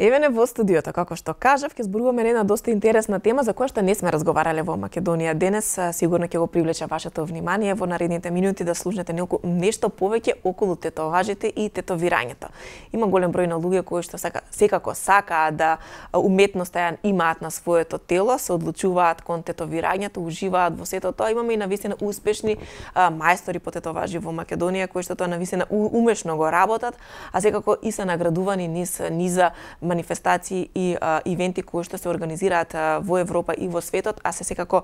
Еве не во студиото, како што кажав, ќе зборуваме на една доста интересна тема за која што не сме разговарале во Македонија денес. Сигурно ќе го привлече вашето внимание во наредните минути да слушнете нешто повеќе околу тетоважите и тетовирањето. Има голем број на луѓе кои што секако сакаат да уметноста ја имаат на своето тело, се одлучуваат кон тетовирањето, уживаат во сето тоа. Имаме и навистина успешни мајстори по тетоважи во Македонија кои што тоа навистина умешно го работат, а секако и се наградувани низ низа манифестации и ивенти кои што се организираат во Европа и во светот, а се секако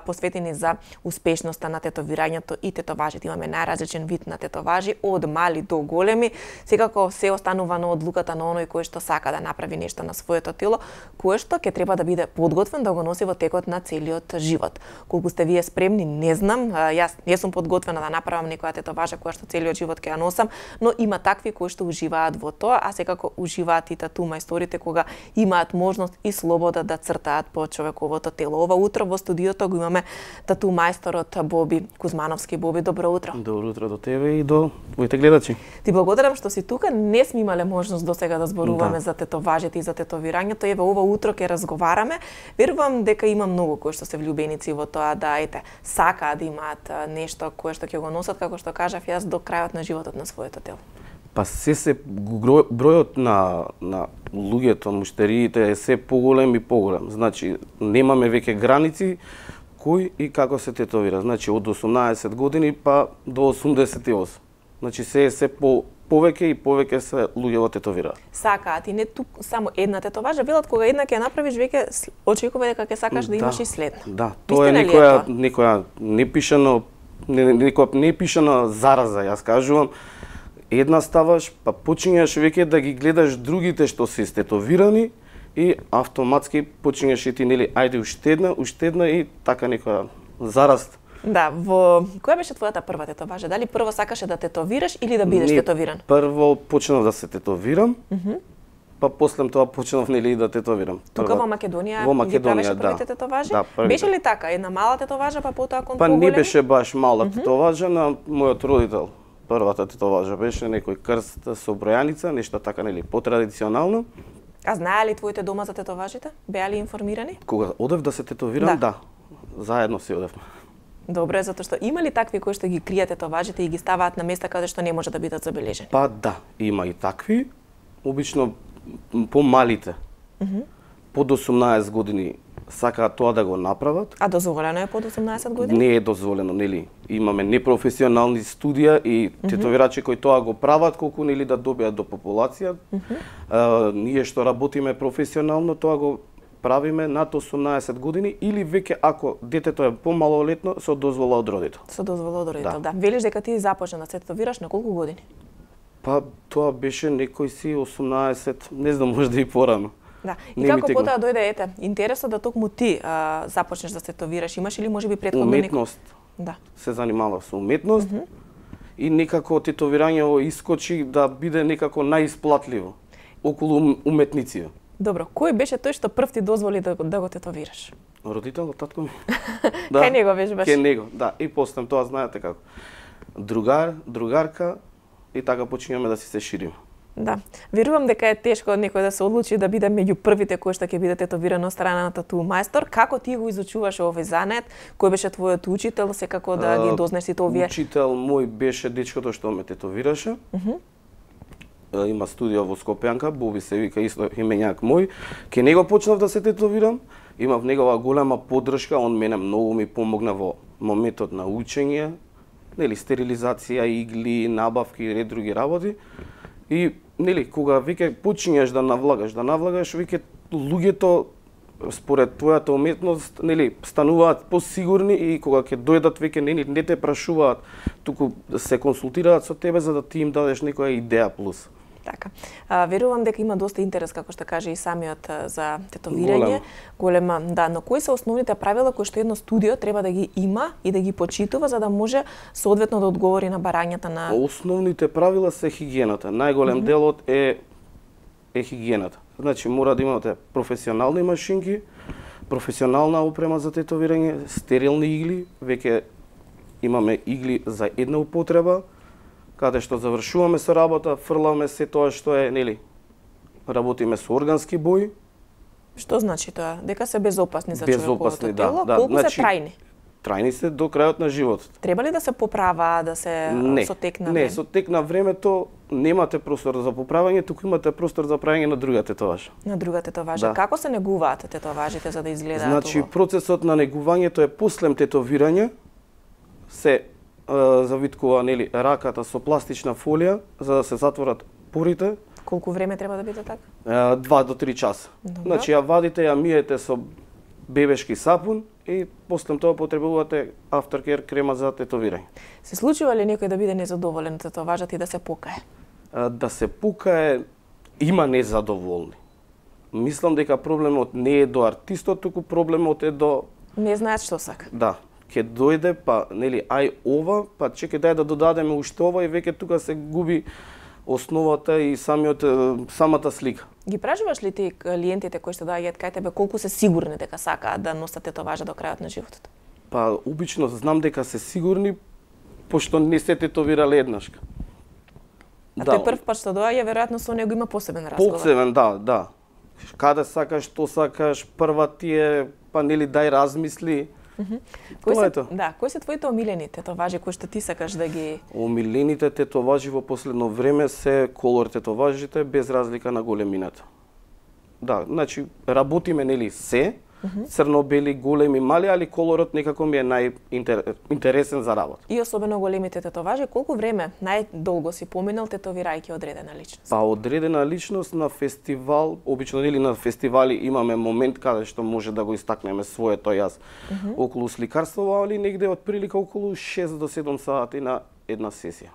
посветени за успешноста на тетовирањето и тетоважите. Имаме најразличен вид на тетоважи, од мали до големи. Секако се останува на одлуката на оној кој што сака да направи нешто на своето тело, кое што ќе треба да биде подготвен да го носи во текот на целиот живот. Колку сте вие спремни, не знам. Јас не сум подготвена да направам некоја тетоважа која што целиот живот ќе ја носам, но има такви кои што уживаат во тоа, а секако уживаат и тату мајсторите кога имаат можност и слобода да цртаат по човековото тело. Ова утро во студиото го имаме тату мајсторот Боби Кузмановски. Боби, добро утро. Добро утро до тебе и до твоите гледачи. Ти благодарам што си тука. Не сме имале можност досега да зборуваме за тетоважите и за тетовирањето. Еве ова утро ќе разговараме. Верувам дека има многу кои што се влюбеници во тоа да сакаат да имаат нешто кое што ќе го носат, како што кажав јас, до крајот на животот на своето тело. Па бројот на луѓето, муштериите е се поголем и поголем. Значи, немаме веќе граници кој и како се тетовира. Значи, од 18 години па до 88. Значи, се повеќе и повеќе се луѓе во тетовираат. Сакаат и не тук само една тетоважа, велат кога една ќе направиш веќе очекува дека ќе сакаш да имаш и следна. Да, тоа е некоја непишана зараза, јас кажувам. Една ставаш, па почињаш веќе да ги гледаш другите што се истетовирани и автоматски почињаш и ти, нели, ајде уште една и така некоја зараст. Да, во која беше твојата прва тетоважа? Дали прво сакаше да тетовираш или да бидеш тетовиран? Прво почнав да се тетовирам, па после тоа почнав, нели, да тетовирам. Тука во Македонија? Во Македонија, да. Првите тетоважи? Да, првите. Беше ли така? Една мала тетоважа, па потоа кон поголеми? Па не беше баш мала тетоважа на мојот родител. Првата тетоважа беше некој крст со бројаница, нешто така, нели, потрадиционално. А знае ли твоите дома за тетоважите? Беа ли информирани? Кога одев да се тетовирам, да. Заедно си одевме. Добре, затоа што има ли такви кои што ги кријат тетоважите и ги ставаат на места каде што не може да бидат забележени? Па да, има и такви. Обично помалите. Под 18 години сакаат тоа да го направат. А дозволено е под 18 години? Не е дозволено, нели? Имаме непрофесионални студија и тетовирачи кои тоа го прават колку, нели, да добијат до популација. Ние што работиме професионално, тоа го правиме над 18 години или веќе ако детето е помалолетно со дозвола од родител. Со дозвола од родител, да. Велиш дека ти започна да се тетовираш на колку години? Па тоа беше некој си 18, не знам, можда и порано. Да. И како потоа дојде интересот да токму ти започнеш да се тетовираш? Имаш или можеби претходно уметност? Да. Се занимавав со уметност и некако тетовирањето искочи да биде некако најисплатливо околу уметници. Добро, кој беше тој што прв ти дозволи да го тетовираш? Родителот, татко ми. Кај него беше баш? Кај него, да. И после тоа знаете како. Другарка и така почињаме да се шириме. Да. Верувам дека е тешко некој да се одлучи да биде меѓу првите кои што ќе биде тетовиран од страна на тату мајстор. Како ти го изучуваш овој занет? Кој беше твојот учител, секако да ги дознеш сите овие? Учител мој беше дечкото што ме тетовираше. Има студија во Скопјанка, Боби се вика, исто имењак мој. Ке него почнав да се тетовирам. Имав негова голема поддршка, он мене многу ми помогна во моментот на учење, нели, стерилизација, игли, набавки и ред други работи. И, нели, кога веќе почињаш да навлагаш, веќе луѓето според твојата уметност, нели, стануваат посигурни и кога ќе дојдат веќе не те прашуваат, туку се консултираат со тебе за да ти им дадеш некоја идеја плюс. Така. Верувам дека има доста интерес, како што каже и самиот, за тетовирање. Голема, да, но кои се основните правила кои што едно студио треба да ги има и да ги почитува за да може соодветно да одговори на барањата на... Основните правила се хигиената. Најголем делот е хигиената. Значи, мора да имате професионални машинки, професионална опрема за тетовирање, стерилни игли, веќе имаме игли за една употреба, каде што завршуваме со работа, фрламе се тоа што е, нели, работиме со органски бои. Што значи тоа? Дека се безопасни за човековото тело? Да. Колку Значи, се трајни? Трајни се до крајот на животот. Треба ли да се поправа, да се со тек на Не, време? со тек на времето немате простор за поправање, туку имате простор за правење на друга тетоважа. На друга тетоважа. Да. Како се негуваат тетоважите за да изгледаат Значи, убаво? процесот на негувањето е после тетовирање, се завиткува нели раката со пластична фолија за да се затворат порите. Колку време треба да биде така? 2 до 3 часа. Добро. Значи ја вадите, ја миете со бебешки сапун и после тоа потребувате aftercare крема за тетовирање. Се случува ли некој да биде незадоволен од тетоважата и да се покае? Да се пукае, има незадоволни. Мислам дека проблемот не е до артистот, туку проблемот е до... Не знаат што сака. Да, ќе дојде, па, нели, ај ова, па чекај дај да додадеме уште ова и веќе тука се губи основата и самата слика. Ги пражуваш ли ти клиентите кои што доаѓаат кај тебе колку се сигурни дека сакаат да носат тетоважа до крајот на животот? Па, обично знам дека се сигурни, пошто не се тетовирале еднашка. А тој прв пат што доаѓа, веројатно со него има посебен разговор. Посебен, да. Каде сакаш, што сакаш, прва ти е, па нели дај размисли. Тоа е тоа. Да, кои се твоите омилени тетоважи кои што ти сакаш да ги... Омилените тетоважи во последно време се колор тетоважите без разлика на големината. Да, значи работиме нели се, црно-бели, големи, мали, али колорот некако ми е најинтересен за работа. И особено големите тетоважи, колку време најдолго си поминал тетовирајќи одредена личност? Па одредена личност на фестивал, обично нели на фестивали имаме момент каде што може да го истакнеме своето јас околу сликарство, али негде од прилика околу 6 до 7 сати на една сесија.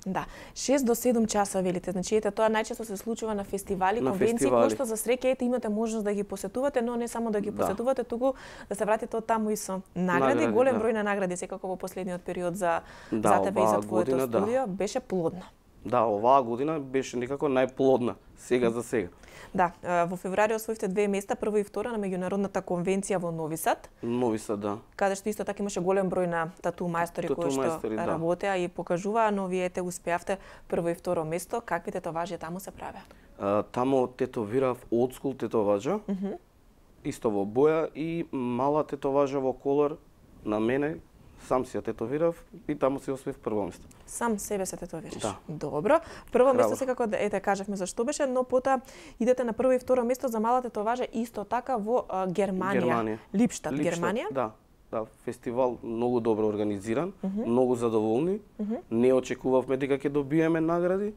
Да, 6 до 7 часа велите. Значи ете тоа најчесто се случува на фестивали, конвенции кои што за среќа имате можност да ги посетувате, но не само да ги посетувате, туку да се вратите од таму и со награди, голем број на награди секако во последниот период за тебе и за твоето студио беше плодна. Да, оваа година беше некако најплодна, сега за сега. Да, во февруари освоивте 2 места, прво и второ на меѓународната конвенција во Нови Сад. Нови Сад, да. Каде што исто така имаше голем број на тату мајстори кои што работеа и покажуваа, но вие успеавте прво и второ место. Какви тетоважи таму се правеа? Таму тетовирав олдскул тетоважа, исто во боја и мала тетоважа во колор на мене. Сам си ја тетовирав и таму си освоив прво место. Сам себе се тетовираш? Да. Добро. Прво место секако, ете, кажавме за што беше, но потоа идете на прво и второ место за мала тетоважа исто така во Германија. Липштад, Германија? Да, фестивал многу добро организиран, многу задоволни. Не очекувавме дека ќе добиеме награди.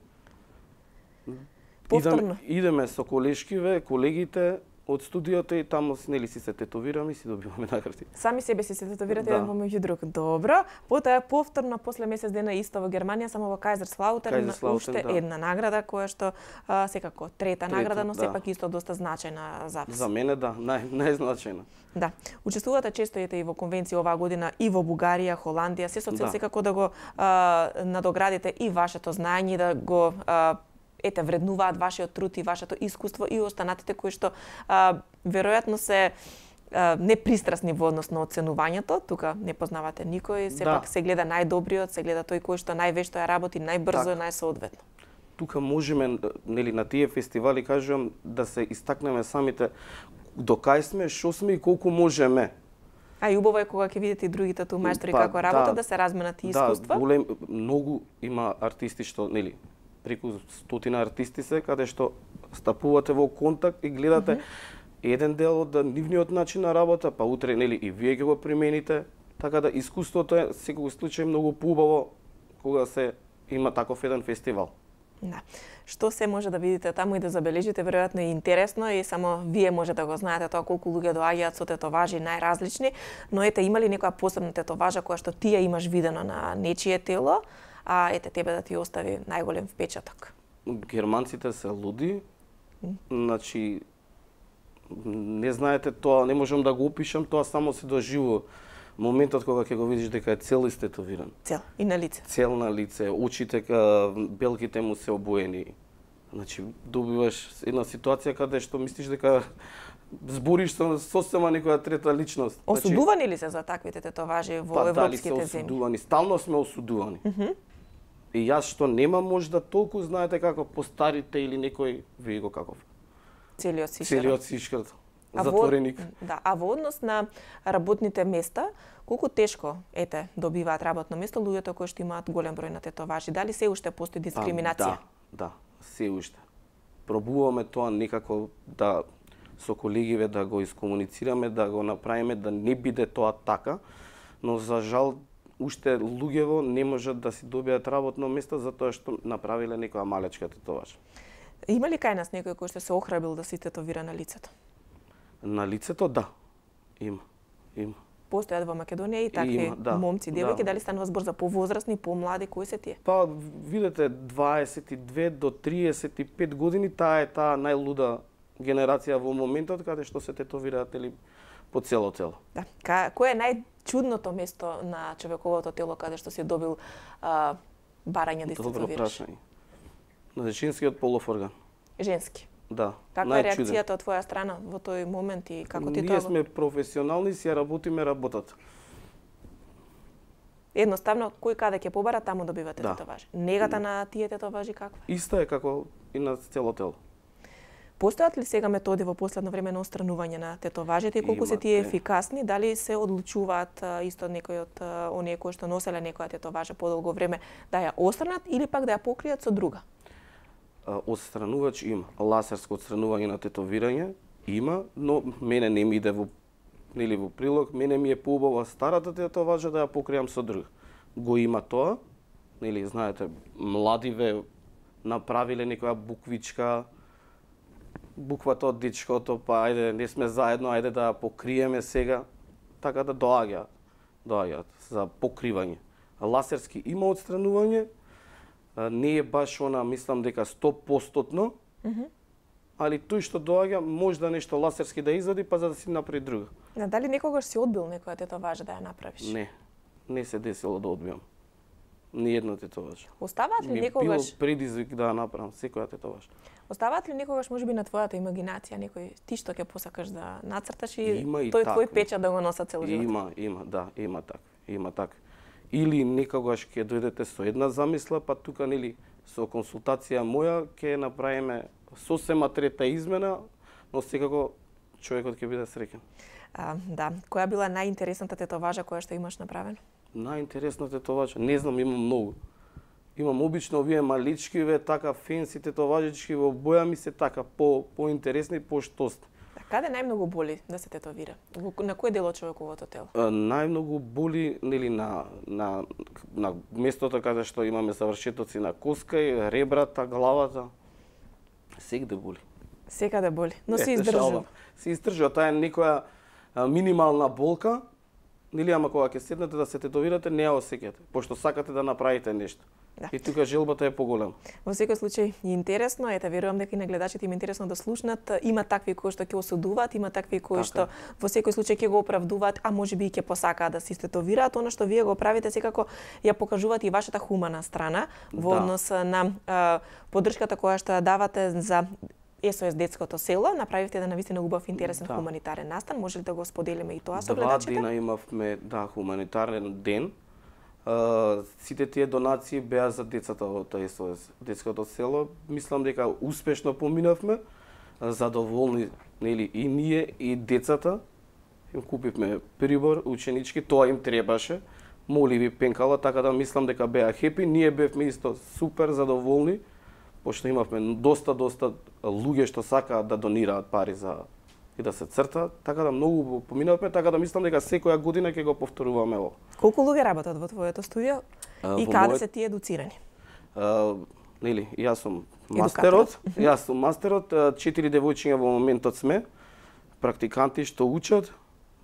Повторно. Идеме со колешкиве, колегите од студиото и таму нели си се тетовираме и си добиваме награди. Сами себе си се тетовирате еден помеѓу друг. Добро. Потоа повторно после месец дена исто во Германија, само во Кајзерслаутен уште една награда која што секако трета награда, но сепак исто доста значајна за вас. За мене да, најзначајна. Да. Учествувате често и во конвенции оваа година и во Бугарија, Холандија, се со цел секако да го надоградите и вашето знаење, да го вреднуваат вашиот труд и вашето искуство и останатите кои што веројатно се непристрасни во однос на оценувањето, тука не познавате никој, сепак се гледа најдобриот, се гледа тој кој што највешто ја работи, најбрзо и најсоодветно. Тука можеме, нели, на тие фестивали, кажувам, да се истакнеме самите до кај сме, што сме и колку можеме. А и убаво е кога ќе видите и другите тату мајстори како работат, да се разменат и искуства. Да, многу има артисти што, нели, преку 100 артисти се, каде што стапувате во контакт и гледате еден дел од нивниот начин на работа, па утре нели и вие ќе го примените, така да искуството е секој случај многу поубаво кога се има таков еден фестивал. Да. Што се може да видите таму и да забележите, веројатно е интересно и само вие може да го знаете тоа колку луѓе доаѓаат со тетоважи најразлични, но ете има ли некоја посебна тетоважа која што ти ја имаш видено на нечие тело, а ете тебе да ти остави најголем впечаток? Германците се луди. Значи не знаете тоа, не можам да го опишам, тоа само се доживува. Моментот кога ќе го видиш дека е цел истетовиран. Цел и на лице. Цел на лице, очите, белките му се обоени. Значи добиваш една ситуација каде што мислиш дека збориш со сосема некоја трета личност. Осудувани ли се за таквите тетоважи во европските земји? Осудувани, стално сме осудувани. И јас што немам можда толку, знаете како постарите или некој вие го каков. Целиот сишкрт. Затвореник. А во однос на работните места, колку тешко добиваат работно место луѓето кои што имаат голем број на тетоважи? Дали се уште постои дискриминација? Да, се уште. Пробуваме тоа некако да со колегиве да го искомуницираме, да го направиме да не биде тоа така, но за жал уште луѓево не можат да си добијат работно место затоа што направиле некоја малечка тетоваж. Има ли кај нас некој кој што се охрабил да си тетовира на лицето? На лицето, да. Има. Постојат во Македонија и такви момци, девојки, дали станува збор за повозрасни, помлади, кои се тие? Па, видете, 22 до 35 години, таа е таа најлуда генерација во моментот каде што се тетовираат или по цело тело. Да. Кој е најчудното место на човековото тело каде што си добил барање да истетовираш? Добро прашање. На женскиот полов орган. Женски? Да. Каква е реакцијата од твоја страна во тој момент и како ти Ние тоа? сме професионални, си ја работиме работата. Едноставно, кој каде ќе побара, таму добивате тетоважи. Негата на тие тетоважи каква? Иста е како и на цело тело. Постојат ли сега методи во последно време на отстранување на тетоважите и колку се тие ефикасни? Дали се одлучуваат исто некои од оние кои што носеле некоја тетоважа подолго време да ја отстранат или пак да ја покријат со друга? Отстранувач има. Лазерско отстранување на тетовирање има, но мене не ми иде во прилог. Мене ми е поубава старата тетоважа да ја покријам со друг. Го има тоа, знаете, младиве направиле некоја буквичка, буквата од дечкото, па ајде, не сме заедно, ајде да ја покриеме сега, така да доаѓаат за покривање. Лазерски има отстранување, не е баш она, мислам дека 100%, али тој што доаѓа можда нешто лазерски да извади, па за да си направи друга. Дали некогаш си одбил некоја тетоважа да ја направиш? Не се десило да одбиам. Ни една тетоваж. Оставаат ли некогаш? Било предизвик да ја направам секоја тетоваж. Оставаат ли некогаш можеби на твојата имагинација некој ти што ќе посакаш да нацрташ и тој такви. твој печат да го носа цел живот? Има такви. Или некогаш ќе дојдете со една замисла, па тука со консултација моја ќе направиме сосема трета измена, но секако човекот ќе биде среќен. Да, која била најинтересната тетоважа која што имаш направена? Најинтересната тетоважа, не знам, имам многу. Имам обично овие малички, така фенси тетоважички во боја ми се така поинтересни, поштосни. Каде најмногу боли да се тетовира? На кој дел од човековото тело? Најмногу боли на местото каде што имаме завршетоци на коска и ребрата, главата. Секаде боли. Секаде боли, но се издржува. Се издржува, таа е некоја минимална болка, ама кога ќе седнете да се тетовирате, не ја осеќате, пошто сакате да направите нешто. Да. И тука желбата е поголема. Во секој случај е интересно, верувам дека и на гледачите им е интересно да слушнат. Има такви кои што ќе осудуваат, има такви кои што во секој случај ќе го оправдуваат, а можеби и ќе посакаат да се тетовираат. Она што вие го правите секако ја покажувате и вашата хумана страна во однос на поддршката која што ја давате за СОС детското село. Направивте навистина убав интересен хуманитарен настан. Може ли да го споделиме и тоа со гледачите? 2 дена имавме хуманитарен ден. Сите тие донации беа за децата од СОС детското село. Мислам дека успешно поминавме, задоволни и ние и децата. Им купивме прибор ученички, тоа им требаше. Моливи пенкала, така да мислам дека беа хепи. Ние бевме исто супер задоволни, пошто имавме доста луѓе што сакаат да донираат пари за и да се црта, така да многу поминавме, така да мислам дека секоја година ќе го повторуваме ово. Колку луѓе работат во твоето студио и каде се тие едуцирани? Јас сум мастерот, 4 девојчиња во моментот сме, практиканти што учат,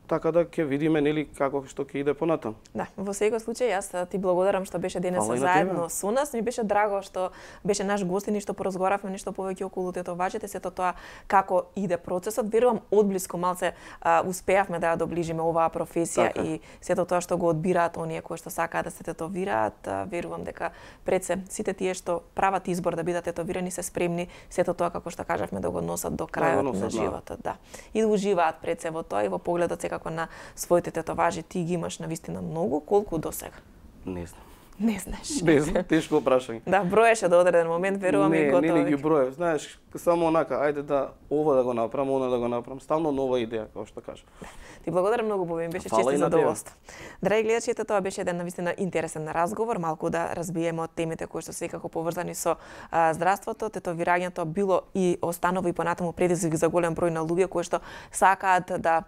така да ќе видиме како што ќе иде понатаму. Да, во секој случај јас ти благодарам што беше денес заедно со нас. Ми беше драго што беше наш гостин и што поразговаравме нешто повеќе околу тетоважите, сето тоа како иде процесот. Верувам одблиску малце успеавме да ја доближиме оваа професија и сето тоа што го одбираат оние кои што сакаат да се тетовираат. Верувам дека пред се сите тие што прават избор да бидат тетовирани се спремни сето тоа како што кажавме да го носат до крајот на животот, да. И да уживаат пред се во тоа и во погледот како на своите тетоважи. Ти ги имаш навистина многу, колку до сега? Не знам. Не знаеш. Не знам, тешко прашање. Да, броеше до одреден момент, верувам и готово. Не ги броев. Знаеш, само онака, ајде да ова да го направам, она да го направам. Стално нова идеја, како што кажа. Ти благодарам многу, Боби, беше чест и задоволство. Драги гледачи, тоа беше еден навистина интересен разговор, малку да разбиеме од темите кои што секако поврзани со здравството, тетовирањето било и останува и понатаму предизвик за голем број на луѓе кои што сакаат да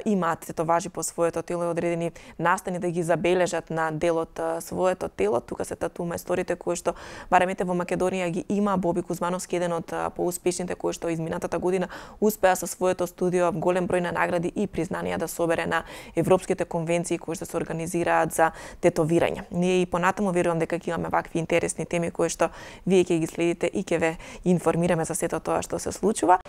имаат тетоважи по своето тело и одредени настани да ги забележат на дел од своето тело. Тука се тату мајсторите кои што барем ете во Македонија ги има. Боби Кузмановски, еден од поуспешните кои што изминатата година успеа со своето студио голем број на награди и признанија да собере на европските конвенции кои што се организираат за тетовирање. Ние и понатаму верувам дека ќе имаме вакви интересни теми кои што вие ќе ги следите и ќе ве информираме за сето тоа што се случува.